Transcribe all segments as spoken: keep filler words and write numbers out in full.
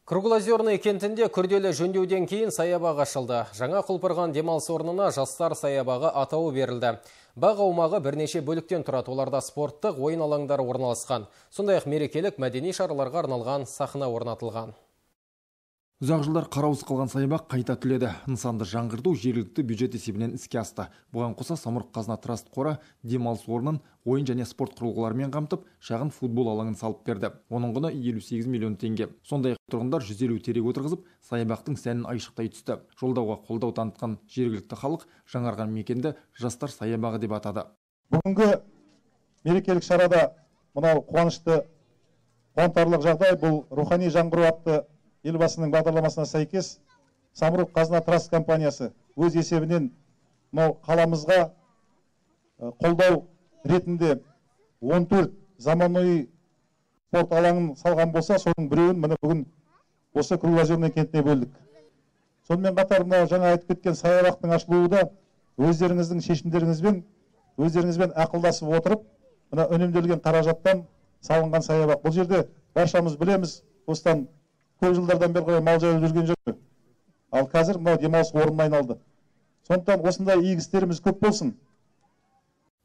Круглозерный кентінде күрделі жөндеуден кейін саябақ ашылды. Жаңа құлпырған демалыс орнына жастар саябағы атауы берілді. Бақ аумағы бірнеше бөліктен тұрады, оларда спорттық ойын алаңдары орналасқан. Сондай-ақ мерекелік мәдени шараларға арналған сахна орнатылған. Ұзақ жылдар қараусыз қалған саябақ қайта түледі. Нысанды жаңғырту жергілікті бюджет есебінен іске асты. Бұған қоса Самұрық Қазына Траст қоры демалыс орнын ойын және спорт құрылғыларымен қамтып, шағын футбол алаңын салып берді. Оның құны елу сегіз миллион теңге. Сондай-ақ тұрғындар жүз елу терек отырғызып, саябақтың сәнін айшықтай түсті. Жолдауға қолдау танытқан жергілікті халық жаңарған мекенді жастар саябағы деп атады. Бүгінгі мерекелік шарада мынау қуанышты, қуантарлық жағдай, бұл рухани жаңғыру атты елбасының бағдарламасына сәйкес Самұрық Қазына Траст компаниясы өз есебінен мынау қаламызға қолдау ретінде он төрт заманауи спорт алаңын салған болса, соның біреуін міне бүгін осы Круглозерный кентіне бөлдік. Сонымен қатар мынау жаңа айтып кеткен саябақтың ашылуы да өздеріңіздің шешімдеріңізбен, өздеріңізбен ақылдасып отырып, мына үнемделген қаражаттан салынған саябақ. Бұл жерде баршамыз білеміз, осыдан көп жылдардан бері мал жайылып жүрген жоқ. Ал қазір мынау демалыс орнына айналды. Сондықтан осындай игі істеріміз көп болсын.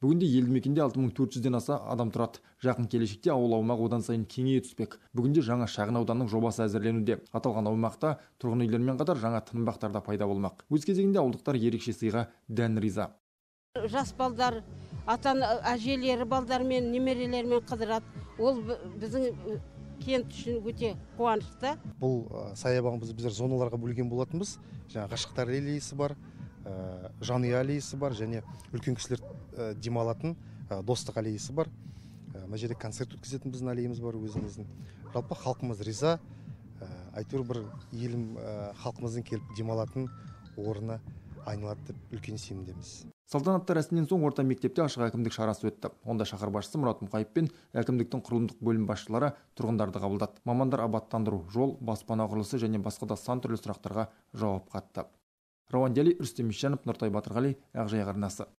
Бүгінде елді мекенде алты мың төрт жүзден аса адам тұрады. Жақын келешекте ауыл аумағы одан сайын кеңейе түспек. Бүгінде жаңа шағын ауданның жобасы әзірленуде. Аталған аумақта тұрғын үйлермен қатар жаңа тынбақтар да пайда болмақ. Өз кезегінде ауылдықтар ерекше сыйға дән риза. Жас балдар, ата әжелері балдармен, немерелермен қыдырады. Ол біздің кент үшін өте қуанышты. Бұл саябағымызды біздер зоналарға бөлген болатынбыз. Жаңа ғашықтар аллеясы бар, жанұя аллеясы бар, және үлкен кісілер демалатын достық аллеясы бар. Мына жерде концерт өткізетін біздің аллеямыз бар өзіміздің. Жалпы халқымыз риза, әйтеуір бір елім халқымыздың келіп демалатын орны айналады деп үлкен сенімдеміз. Салтанатты рәсімнен соң орта мектепте ашық әкімдік шарасы өтті. Онда шаһар басшысы Мұрат Мұқаев пен әкімдіктің құрылымдық бөлім басшылары тұрғындарды қабылдады. Мамандар абаттандыру, жол, баспана құрылысы және басқа да сан түрлі сұрақтарға жауап қатты. Рауан Дәли, Рүстем Ишанов, Нұртай Батырғали, Ақжайық арнасы.